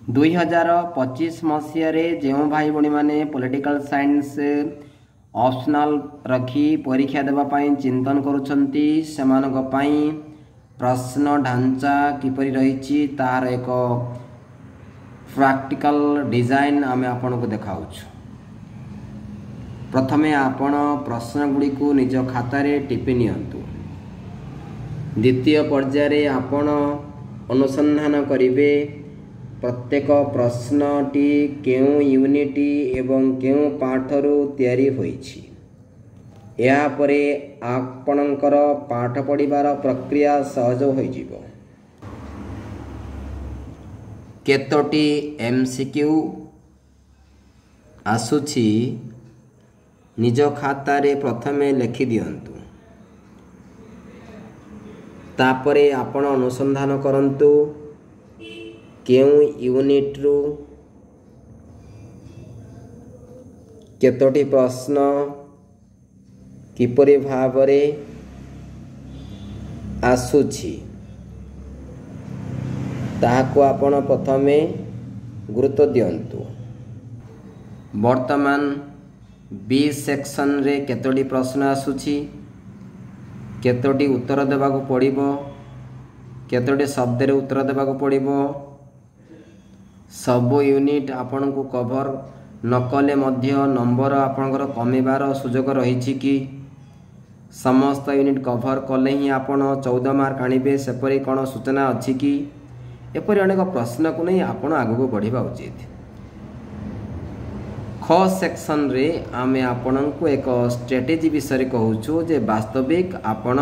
2025 ମସିହାରେ ଯେଉଁ ଭାଇ ଭଉଣୀମାନେ ପଲିଟିକାଲ ସାଇନ୍ସ ଅପସନାଲ୍ ରଖି ପରୀକ୍ଷା ଦେବା ପାଇଁ ଚିନ୍ତନ କରୁଛନ୍ତି, ସେମାନଙ୍କ ପାଇଁ ପ୍ରଶ୍ନ ଢାଞ୍ଚା କିପରି ରହିଛି ତାହାର ଏକ ପ୍ରାକ୍ଟିକାଲ ଡିଜାଇନ୍ ଆମେ ଆପଣଙ୍କୁ ଦେଖାଉଛୁ। ପ୍ରଥମେ ଆପଣ ପ୍ରଶ୍ନଗୁଡ଼ିକୁ ନିଜ ଖାତାରେ ଟିପି ନିଅନ୍ତୁ। ଦ୍ୱିତୀୟ ପର୍ଯ୍ୟାୟରେ ଆପଣ ଅନୁସନ୍ଧାନ କରିବେ ପ୍ରତ୍ୟେକ ପ୍ରଶ୍ନଟି କେଉଁ ୟୁନିଟ୍ ଏବଂ କେଉଁ ପାଠରୁ ତିଆରି ହୋଇଛି। ଏହାପରେ ଆପଣଙ୍କର ପାଠ ପଢ଼ିବାର ପ୍ରକ୍ରିୟା ସହଜ ହୋଇଯିବ। କେତୋଟି MCQ ଆସୁଛି ନିଜ ଖାତାରେ ପ୍ରଥମେ ଲେଖିଦିଅନ୍ତୁ। ତାପରେ ଆପଣ ଅନୁସନ୍ଧାନ କରନ୍ତୁ କେଉଁ ୟୁନିଟ୍ରୁ କେତୋଟି ପ୍ରଶ୍ନ କିପରି ଭାବରେ ଆସୁଛି, ତାହାକୁ ଆପଣ ପ୍ରଥମେ ଗୁରୁତ୍ୱ ଦିଅନ୍ତୁ। ବର୍ତ୍ତମାନ ବି ସେକ୍ସନରେ କେତୋଟି ପ୍ରଶ୍ନ ଆସୁଛି, କେତୋଟି ଉତ୍ତର ଦେବାକୁ ପଡ଼ିବ, କେତୋଟି ଶବ୍ଦରେ ଉତ୍ତର ଦେବାକୁ ପଡ଼ିବ, ସବୁ ୟୁନିଟ୍ ଆପଣଙ୍କୁ କଭର୍ ନକଲେ ମଧ୍ୟ ନମ୍ବର ଆପଣଙ୍କର କମିବାର ସୁଯୋଗ ରହିଛି କି, ସମସ୍ତ ୟୁନିଟ୍ କଭର୍ କଲେ ହିଁ ଆପଣ 14 ମାର୍କ ଆଣିବେ ସେପରି କ'ଣ ସୂଚନା ଅଛି କି, ଏପରି ଅନେକ ପ୍ରଶ୍ନକୁ ନେଇ ଆପଣ ଆଗକୁ ବଢ଼ିବା ଉଚିତ। ଖ ସେକ୍ସନରେ ଆମେ ଆପଣଙ୍କୁ ଏକ ଷ୍ଟ୍ରାଟେଜି ବିଷୟରେ କହୁଛୁ ଯେ ବାସ୍ତବିକ ଆପଣ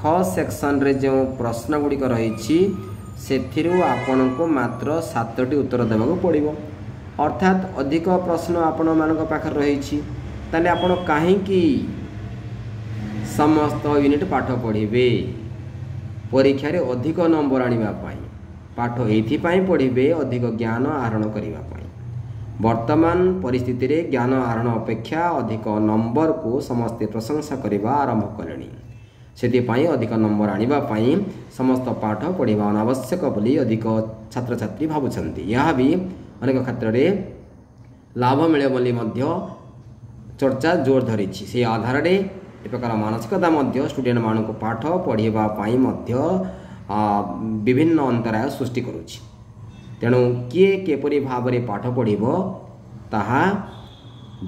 ଖ ସେକ୍ସନରେ ଯେଉଁ ପ୍ରଶ୍ନ ଗୁଡ଼ିକ ରହିଛି ସେଥିରୁ ଆପଣଙ୍କୁ ମାତ୍ର 7ଟି ଉତ୍ତର ଦେବାକୁ ପଡ଼ିବ, ଅର୍ଥାତ୍ ଅଧିକ ପ୍ରଶ୍ନ ଆପଣମାନଙ୍କ ପାଖରେ ରହିଛି। ତାହେଲେ ଆପଣ କାହିଁକି ସମସ୍ତ ୟୁନିଟ୍ ପାଠ ପଢ଼ିବେ? ପରୀକ୍ଷାରେ ଅଧିକ ନମ୍ବର ଆଣିବା ପାଇଁ ପାଠ ଏଇଥିପାଇଁ ପଢ଼ିବେ, ଅଧିକ ଜ୍ଞାନ ଆହରଣ କରିବା ପାଇଁ। ବର୍ତ୍ତମାନ ପରିସ୍ଥିତିରେ ଜ୍ଞାନ ଆହରଣ ଅପେକ୍ଷା ଅଧିକ ନମ୍ବରକୁ ସମସ୍ତେ ପ୍ରଶଂସା କରିବା ଆରମ୍ଭ କଲେଣି। ସେଥିପାଇଁ ଅଧିକ ନମ୍ବର ଆଣିବା ପାଇଁ ସମସ୍ତ ପାଠ ପଢ଼ିବା ଅନାବଶ୍ୟକ ବୋଲି ଅଧିକ ଛାତ୍ରଛାତ୍ରୀ ଭାବୁଛନ୍ତି। ଏହା ବି ଅନେକ କ୍ଷେତ୍ରରେ ଲାଭ ମିଳେ ବୋଲି ମଧ୍ୟ ଚର୍ଚ୍ଚା ଜୋର ଧରିଛି। ସେହି ଆଧାରରେ ଏ ପ୍ରକାର ମାନସିକତା ମଧ୍ୟ ଷ୍ଟୁଡେଣ୍ଟମାନଙ୍କୁ ପାଠ ପଢ଼ିବା ପାଇଁ ମଧ୍ୟ ବିଭିନ୍ନ ଅନ୍ତରାୟ ସୃଷ୍ଟି କରୁଛି। ତେଣୁ କିଏ କିପରି ଭାବରେ ପାଠ ପଢ଼ିବ ତାହା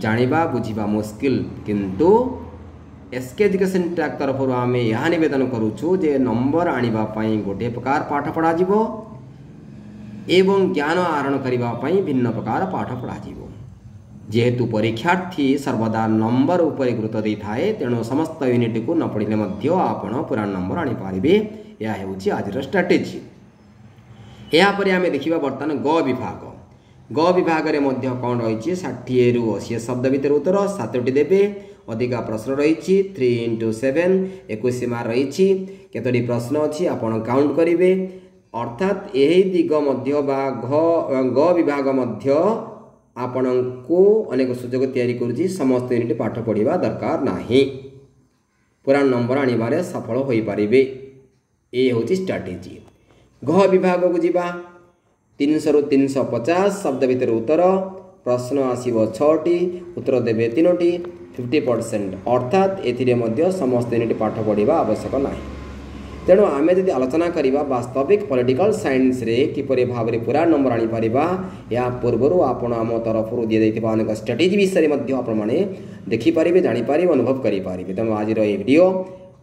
ଜାଣିବା ବୁଝିବା ମୁସ୍କିଲ, କିନ୍ତୁ ଏସ୍ କେ ଏଜୁକେସନ୍ ଟ୍ରାକ୍ ତରଫରୁ ଆମେ ଏହା ନିବେଦନ କରୁଛୁ ଯେ ନମ୍ବର ଆଣିବା ପାଇଁ ଗୋଟିଏ ପ୍ରକାର ପାଠ ପଢ଼ାଯିବ ଏବଂ ଜ୍ଞାନ ଆହରଣ କରିବା ପାଇଁ ଭିନ୍ନ ପ୍ରକାର ପାଠ ପଢ଼ାଯିବ। ଯେହେତୁ ପରୀକ୍ଷାର୍ଥୀ ସର୍ବଦା ନମ୍ବର ଉପରେ ଗୁରୁତ୍ୱ ଦେଇଥାଏ, ତେଣୁ ସମସ୍ତ ୟୁନିଟ୍କୁ ନ ପଢ଼ିଲେ ମଧ୍ୟ ଆପଣ ପୁରା ନମ୍ବର ଆଣିପାରିବେ। ଏହା ହେଉଛି ଆଜିର ଷ୍ଟ୍ରାଟେଜି। ଏହାପରେ ଆମେ ଦେଖିବା ବର୍ତ୍ତମାନ ଗ ବିଭାଗ। ଗ ବିଭାଗରେ ମଧ୍ୟ କ'ଣ ରହିଛି? 60ରୁ 80 ଶବ୍ଦ ଭିତରେ ଉତ୍ତର 7ଟି ଦେବେ। ଅଧିକା ପ୍ରଶ୍ନ ରହିଛି, 3 ଇଣ୍ଟୁ 7 21 ମାର୍କ ରହିଛି। କେତୋଟି ପ୍ରଶ୍ନ ଅଛି ଆପଣ କାଉଣ୍ଟ କରିବେ। ଅର୍ଥାତ୍ ଏହି ଦିଗ ମଧ୍ୟ ବା ଗ ବିଭାଗ ମଧ୍ୟ ଆପଣଙ୍କୁ ଅନେକ ସୁଯୋଗ ତିଆରି କରୁଛି। ସମସ୍ତ ୟୁନିଟ୍ ପାଠ ପଢ଼ିବା ଦରକାର ନାହିଁ, ପୁରା ନମ୍ବର ଆଣିବାରେ ସଫଳ ହୋଇପାରିବେ। ଏ ହେଉଛି ଷ୍ଟ୍ରାଟେଜି। ଘ ବିଭାଗକୁ ଯିବା। 300ରୁ 350 ଶବ୍ଦ ଭିତରେ ଉତ୍ତର, ପ୍ରଶ୍ନ ଆସିବ 6ଟି, ଉତ୍ତର ଦେବେ 3ଟି, 50%। ଅର୍ଥାତ୍ ଏଥିରେ ମଧ୍ୟ ସମସ୍ତ ୟୁନିଟ୍ ପାଠ ପଢ଼ିବା ଆବଶ୍ୟକ ନାହିଁ। ତେଣୁ ଆମେ ଯଦି ଆଲୋଚନା କରିବା ବାସ୍ତବିକ ପଲିଟିକାଲ ସାଇନ୍ସରେ କିପରି ଭାବରେ ପୁରା ନମ୍ବର ଆଣିପାରିବା, ଏହା ପୂର୍ବରୁ ଆପଣ ଆମ ତରଫରୁ ଦିଆଯାଇଥିବା ଅନେକ ଷ୍ଟ୍ରାଟେଜି ବିଷୟରେ ମଧ୍ୟ ଆପଣମାନେ ଦେଖିପାରିବେ, ଜାଣିପାରିବେ, ଅନୁଭବ କରିପାରିବେ। ତେଣୁ ଆଜିର ଏହି ଭିଡ଼ିଓ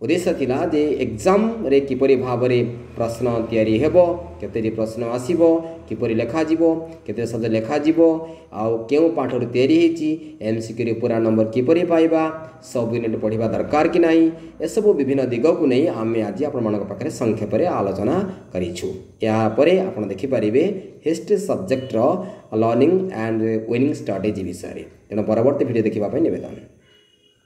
ଉଦ୍ଦେଶ୍ୟ ଥିଲା ଯେ ଏକ୍ଜାମ୍ରେ କିପରି ଭାବରେ ପ୍ରଶ୍ନ ତିଆରି ହେବ, କେତୋଟି ପ୍ରଶ୍ନ ଆସିବ, କିପରି ଲେଖାଯିବ, କେତେ ଶବ୍ଦ ଲେଖାଯିବ, ଆଉ କେଉଁ ପାଠରୁ ତିଆରି ହେଇଛି, MCQରେ ପୁରା ନମ୍ବର କିପରି ପାଇବା, ସବୁ ୟୁନିଟ୍ ପଢ଼ିବା ଦରକାର କି ନାହିଁ, ଏସବୁ ବିଭିନ୍ନ ଦିଗକୁ ନେଇ ଆମେ ଆଜି ଆପଣମାନଙ୍କ ପାଖରେ ସଂକ୍ଷେପରେ ଆଲୋଚନା କରିଛୁ। ଏହାପରେ ଆପଣ ଦେଖିପାରିବେ ହିଷ୍ଟ୍ରି ସବଜେକ୍ଟର ଲର୍ଣ୍ଣିଂ ଆଣ୍ଡ ୱିନିଂ ଷ୍ଟ୍ରାଟେଜି ବିଷୟରେ। ତେଣୁ ପରବର୍ତ୍ତୀ ଭିଡ଼ିଓ ଦେଖିବା ପାଇଁ ନିବେଦନ।